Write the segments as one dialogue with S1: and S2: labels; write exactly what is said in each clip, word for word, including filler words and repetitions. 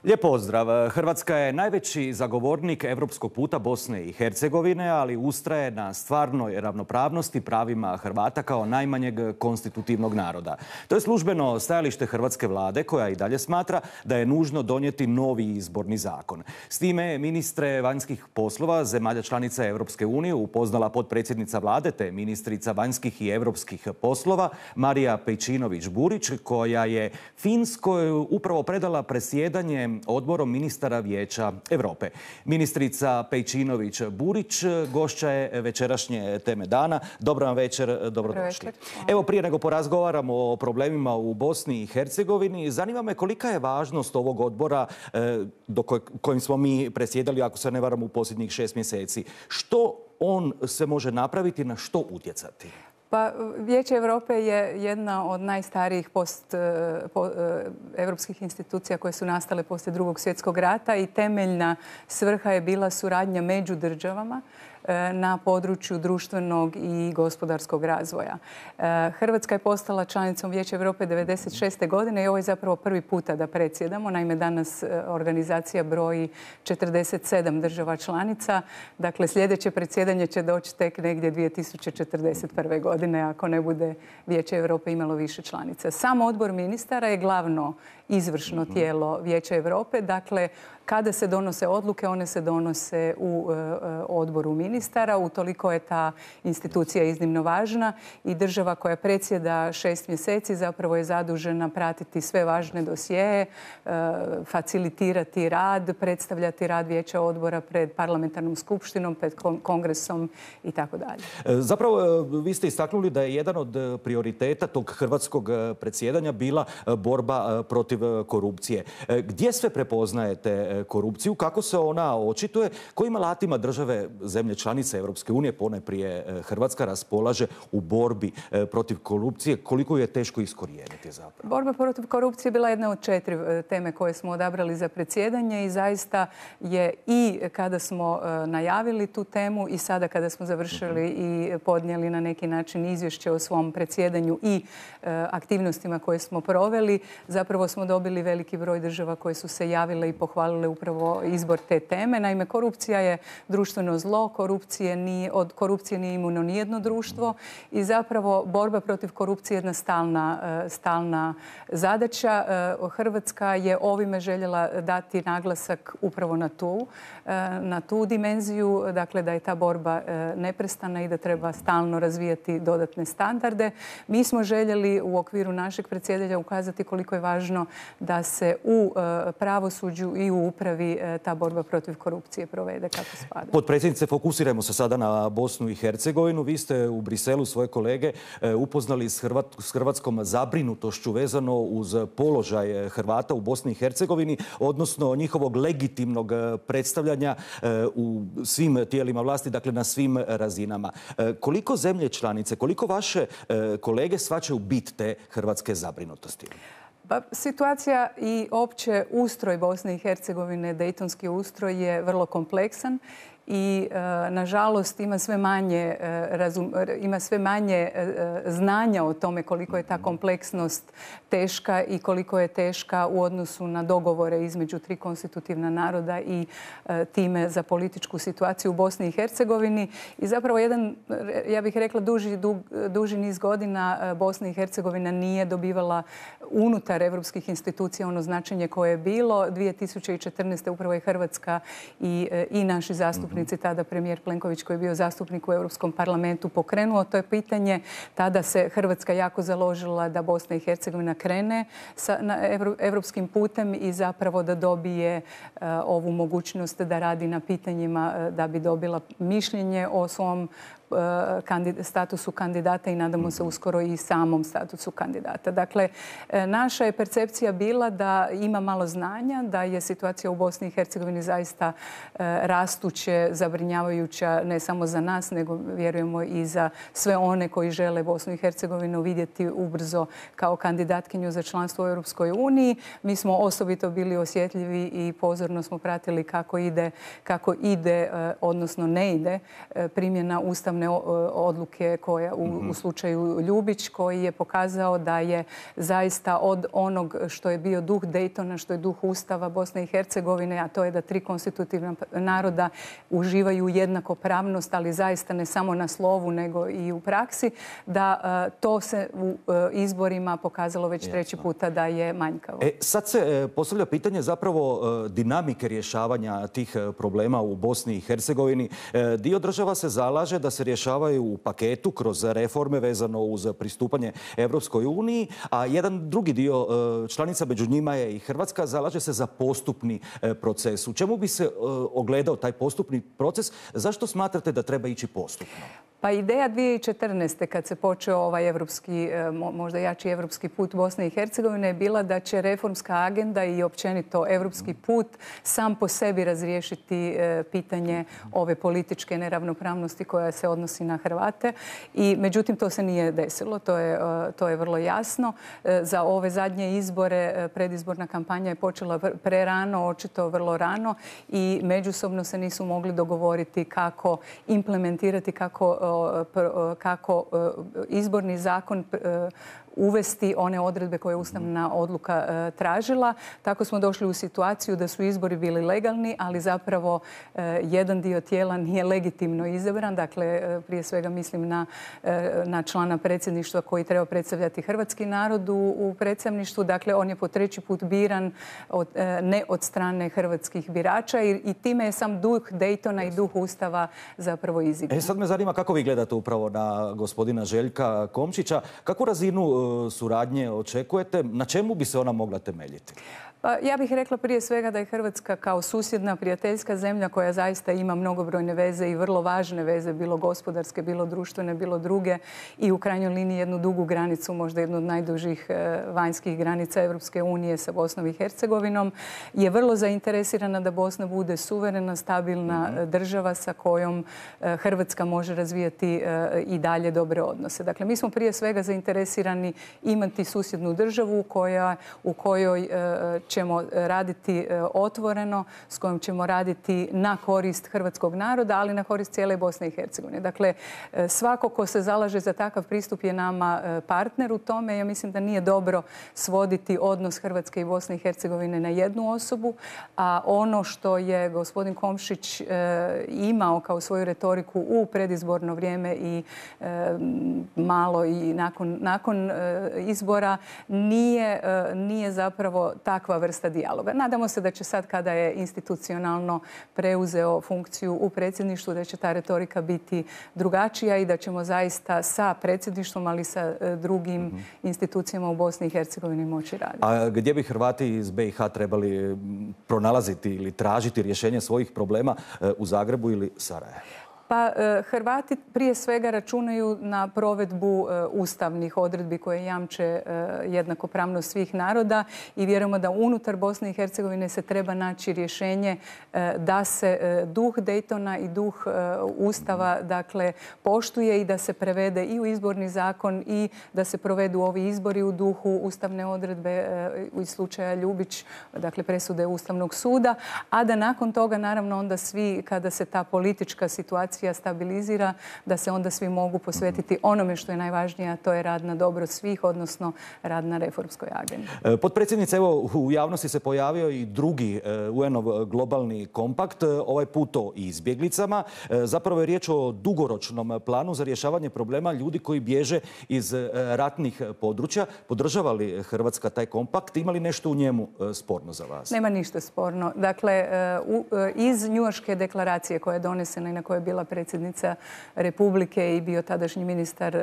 S1: Lijep pozdrav. Hrvatska je najveći zagovornik europskog puta Bosne i Hercegovine, ali ustraje na stvarnoj ravnopravnosti pravima Hrvata kao najmanjeg konstitutivnog naroda. To je službeno stajalište hrvatske vlade, koja i dalje smatra da je nužno donijeti novi izborni zakon. S time ministre vanjskih poslova zemalja članica Europske unije upoznala potpredsjednica vlade te ministrica vanjskih i europskih poslova Marija Pejčinović-Burić, koja je Finskoj upravo predala predsjedanje odborom ministara Vijeća Europe. Ministrica Pejčinović-Burić gošća je večerašnje Teme dana. Dobro vam večer, dobrodošli. Evo, prije nego porazgovaramo o problemima u Bosni i Hercegovini, zanima me kolika je važnost ovog odbora do kojim smo mi predsjedali, ako se ne varam, u posljednjih šest mjeseci. Što on se može napraviti, na što utjecati?
S2: Pa, Vijeće Europe je jedna od najstarijih post, po, evropskih institucija koje su nastale poslije Drugog svjetskog rata i temeljna svrha je bila suradnja među državama na području društvenog i gospodarskog razvoja. Hrvatska je postala članicom Vijeća Europe devedeset šeste godine i ovo je zapravo prvi puta da predsjedamo. Naime, danas organizacija broji četrdeset sedam država članica. Dakle, sljedeće predsjedanje će doći tek negdje dvije tisuće četrdeset prve godine ako ne bude Vijeće Europe imalo više članica. Sam odbor ministara je glavno izvršno tijelo Vijeća Europe. Dakle, kada se donose odluke, one se donose u odboru ministara. Utoliko je ta institucija iznimno važna i država koja predsjeda šest mjeseci zapravo je zadužena pratiti sve važne dosjeje, facilitirati rad, predstavljati rad Vijeća odbora pred parlamentarnom skupštinom, pred kongresom i tako dalje.
S1: Zapravo, vi ste istaknuli da je jedan od prioriteta tog hrvatskog predsjedanja bila borba protiv korupcije. Gdje sve prepoznajete korupciju? Kako se ona očituje? Kojim alatima države, zemlje članice Europske unije, ponajprije Hrvatska, raspolaže u borbi protiv korupcije? Koliko je teško iskorijeniti zapravo?
S2: Borba protiv korupcije bila jedna od četiri teme koje smo odabrali za predsjedanje i zaista je i kada smo najavili tu temu i sada kada smo završili i podnijeli na neki način izvješće o svom predsjedanju i aktivnostima koje smo proveli, zapravo smo dobili veliki broj država koje su se javile i pohvalile upravo izbor te teme. Naime, korupcija je društveno zlo, korupcije nije, od korupcije nije imuno nijedno društvo i zapravo borba protiv korupcije je jedna stalna, stalna zadaća. Hrvatska je ovime željela dati naglasak upravo na tu, na tu dimenziju, dakle da je ta borba neprestana i da treba stalno razvijati dodatne standarde. Mi smo željeli u okviru našeg predsjedanja ukazati koliko je važno da se u pravosuđu i u upravi ta borba protiv korupcije provede kako spada.
S1: Potpredsjednice, fokusirajmo se sada na Bosnu i Hercegovinu. Vi ste u Briselu svoje kolege upoznali s, Hrvat, s hrvatskom zabrinutošću vezano uz položaj Hrvata u Bosni i Hercegovini, odnosno njihovog legitimnog predstavljanja u svim tijelima vlasti, dakle na svim razinama. Koliko zemlje članice, koliko vaše kolege shvaćaju bit te hrvatske zabrinutosti?
S2: Pa, situacija i opće ustroj Bosne i Hercegovine, dejtonski ustroj, je vrlo kompleksan i nažalost ima sve manje, razum, ima sve manje znanja o tome koliko je ta kompleksnost teška i koliko je teška u odnosu na dogovore između tri konstitutivna naroda i time za političku situaciju u Bosni i Hercegovini. I zapravo jedan, ja bih rekla, duži, dug, duži niz godina Bosna i Hercegovina nije dobivala unutar evropskih institucija ono značenje koje je bilo. dvije tisuće četrnaeste. upravo je Hrvatska i, i naši zastupnici, tada premijer Plenković koji je bio zastupnik u Europskom parlamentu, pokrenuo to je pitanje. Tada se Hrvatska jako založila da Bosna i Hercegovina krene sa, na evropskim putem i zapravo da dobije uh, ovu mogućnost da radi na pitanjima uh, da bi dobila mišljenje o svom statusu kandidata i nadamo se uskoro i samom statusu kandidata. Dakle, naša je percepcija bila da ima malo znanja, da je situacija u Bosni i Hercegovini zaista rastuće zabrinjavajuća ne samo za nas, nego vjerujemo i za sve one koji žele Bosnu i Hercegovinu vidjeti ubrzo kao kandidatkinju za članstvo u Europskoj uniji. Mi smo osobito bili osjetljivi i pozorno smo pratili kako ide, kako ide odnosno ne ide primjena ustavne odluke koja u, u slučaju Ljubić, koji je pokazao da je zaista od onog što je bio duh Daytona, što je duh Ustava Bosne i Hercegovine, a to je da tri konstitutivna naroda uživaju jednakopravnost, ali zaista ne samo na slovu, nego i u praksi, da to se u izborima pokazalo već treći puta da je manjkavo.
S1: E, sad se postavlja pitanje zapravo dinamike rješavanja tih problema u Bosni i Hercegovini. Dio država se zalaže da se rješavaju u paketu kroz reforme vezano uz pristupanje Europskoj uniji, a jedan drugi dio članica, među njima je i Hrvatska, zalaže se za postupni proces. U čemu bi se ogledao taj postupni proces? Zašto smatrate da treba ići postupno?
S2: Pa ideja dvije tisuće četrnaeste. kad se počeo ovaj evropski, možda jači evropski put Bosne i Hercegovine je bila da će reformska agenda i općenito evropski put sam po sebi razriješiti pitanje ove političke neravnopravnosti koja se odnosi na Hrvate. I međutim, to se nije desilo. To je, to je vrlo jasno. Za ove zadnje izbore predizborna kampanja je počela prerano, očito vrlo rano i međusobno se nisu mogli dogovoriti kako implementirati, kako kako izborni zakon uvesti one odredbe koje je ustavna odluka tražila. Tako smo došli u situaciju da su izbori bili legalni, ali zapravo jedan dio tijela nije legitimno izabran. Dakle, prije svega mislim na, na člana predsjedništva koji treba predstavljati hrvatski narod u, u predstavništvu. Dakle, on je po treći put biran od, ne od strane hrvatskih birača i, i time je sam duh Daytona i duh Ustava zapravo izigran.
S1: E, sad me zanima kako vi gledate upravo na gospodina Željka Komšića. Kakvu razinu suradnje očekujete? Na čemu bi se ona mogla temeljiti?
S2: Pa ja bih rekla prije svega da je Hrvatska kao susjedna, prijateljska zemlja koja zaista ima mnogobrojne veze i vrlo važne veze, bilo gospodarske, bilo društvene, bilo druge i u krajnjoj liniji jednu dugu granicu, možda jednu od najdužih vanjskih granica Europske unije sa Bosnom i Hercegovinom, je vrlo zainteresirana da Bosna bude suverena, stabilna mm-hmm. država sa kojom Hrvatska može razvijati i dalje dobre odnose. Dakle, mi smo prije svega zainteresirani imati susjednu državu koja, u kojoj ćemo raditi otvoreno, s kojom ćemo raditi na korist hrvatskog naroda, ali na korist cijele Bosne i Hercegovine. Dakle, svako ko se zalaže za takav pristup je nama partner u tome. Ja mislim da nije dobro svoditi odnos Hrvatske i Bosne i Hercegovine na jednu osobu, a ono što je gospodin Komšić imao kao svoju retoriku u predizborno vrijeme i malo i nakon, nakon izbora nije, nije zapravo takva vrsta dijaloga. Nadamo se da će sad kada je institucionalno preuzeo funkciju u predsjedništvu da će ta retorika biti drugačija i da ćemo zaista sa predsjedništvom, ali sa drugim mm-hmm. institucijama u Bosni i Hercegovini moći raditi.
S1: A gdje bi Hrvati iz be i ha trebali pronalaziti ili tražiti rješenje svojih problema, u Zagrebu ili Sarajevu?
S2: Pa Hrvati prije svega računaju na provedbu ustavnih odredbi koje jamče jednakopravnost svih naroda i vjerujemo da unutar Bosne i Hercegovine se treba naći rješenje da se duh Daytona i duh Ustava dakle poštuje i da se prevede i u izborni zakon i da se provedu ovi izbori u duhu ustavne odredbe u slučaja Ljubić, dakle presude Ustavnog suda, a da nakon toga naravno onda svi kada se ta politička situacija stabilizira, da se onda svi mogu posvetiti onome što je najvažnije, a to je rad na dobro svih, odnosno rad na reformskoj agendi.
S1: Potpredsjednice, evo u javnosti se pojavio i drugi u en-ov globalni kompakt, ovaj put o izbjeglicama. Zapravo je riječ o dugoročnom planu za rješavanje problema ljudi koji bježe iz ratnih područja. Podržava li Hrvatska taj kompakt? Ima li nešto u njemu sporno za vas?
S2: Nema ništa sporno. Dakle, iz Njujorške deklaracije koja je donesena i na kojoj je bila predsjednica Republike i bio tadašnji ministar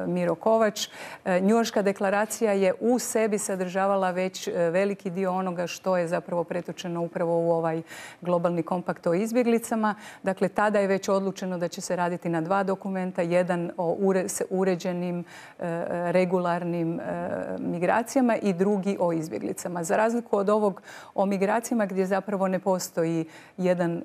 S2: Miro Kovač. Njujorška deklaracija je u sebi sadržavala već veliki dio onoga što je zapravo pretočeno upravo u ovaj globalni kompakt o izbjeglicama. Dakle, tada je već odlučeno da će se raditi na dva dokumenta. Jedan o uređenim, regularnim migracijama i drugi o izbjeglicama. Za razliku od ovog o migracijama gdje zapravo ne postoji jedan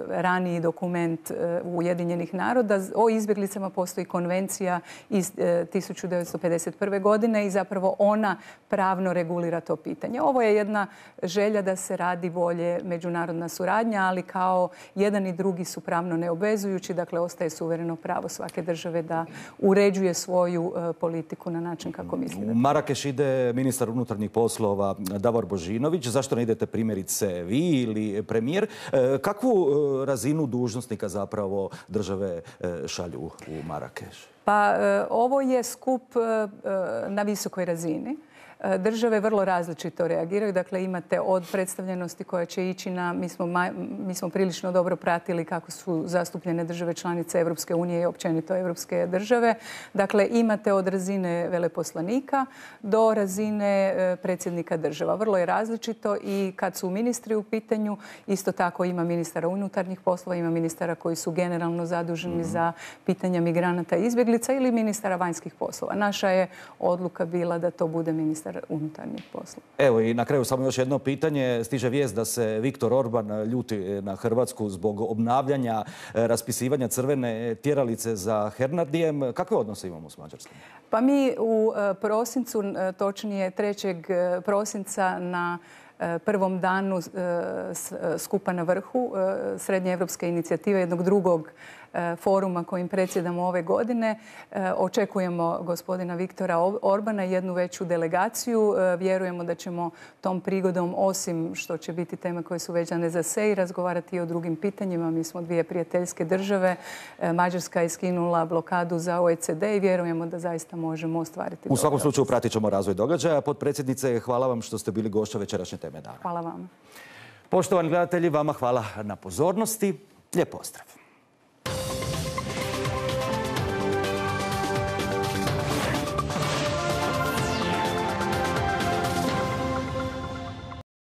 S2: raniji dokument Ujedinjenih naroda, o izbjeglicama postoji konvencija iz tisuću devetsto pedeset prve. godine i zapravo ona pravno regulira to pitanje. Ovo je jedna želja da se radi bolje međunarodna suradnja, ali kao jedan i drugi su pravno neobvezujući, dakle ostaje suvereno pravo svake države da uređuje svoju politiku na način kako misli.
S1: U Marakeš ide ministar unutarnjih poslova Davor Božinović. Zašto ne idete primjerice vi ili premijer? Kakvu razinu dužnosnika zapravo države šalju u Marakeš?
S2: Pa ovo je skup na visokoj razini. Države vrlo različito reagiraju. Dakle, imate od predstavljenosti koja će ići na... Mi smo, mi smo prilično dobro pratili kako su zastupljene države članice Evropske unije i općenito evropske države. Dakle, imate od razine veleposlanika do razine predsjednika država. Vrlo je različito i kad su ministri u pitanju, isto tako ima ministara unutarnjih poslova, ima ministara koji su generalno zaduženi mm-hmm. za pitanja migranata i izbjeglica ili ministara vanjskih poslova. Naša je odluka bila da to bude ministar unutarnjih poslova.
S1: Evo i na kraju samo još jedno pitanje. Stiže vijest da se Viktor Orban ljuti na Hrvatsku zbog obnavljanja raspisivanja crvene tjeralice za Hernardijem. Kakve odnose imamo s Mađarskom?
S2: Pa mi u prosincu, točnije trećeg prosinca na prvom danu skupa na vrhu Srednjeevropske inicijative, jednog drugog foruma kojim predsjedamo ove godine. Očekujemo gospodina Viktora Orbana i jednu veću delegaciju. Vjerujemo da ćemo tom prigodom, osim što će biti teme koje su vezane za S E I, razgovarati i o drugim pitanjima. Mi smo dvije prijateljske države. Mađarska je skinula blokadu za O E C D i vjerujemo da zaista možemo ostvariti.
S1: U svakom slučaju pratit ćemo razvoj događaja. Potpredsjednice, hvala vam što ste bili gošća večerašnje Teme dana.
S2: Hvala vam.
S1: Poštovani gledatelji, vama hvala na pozornosti. Lijep pozdrav.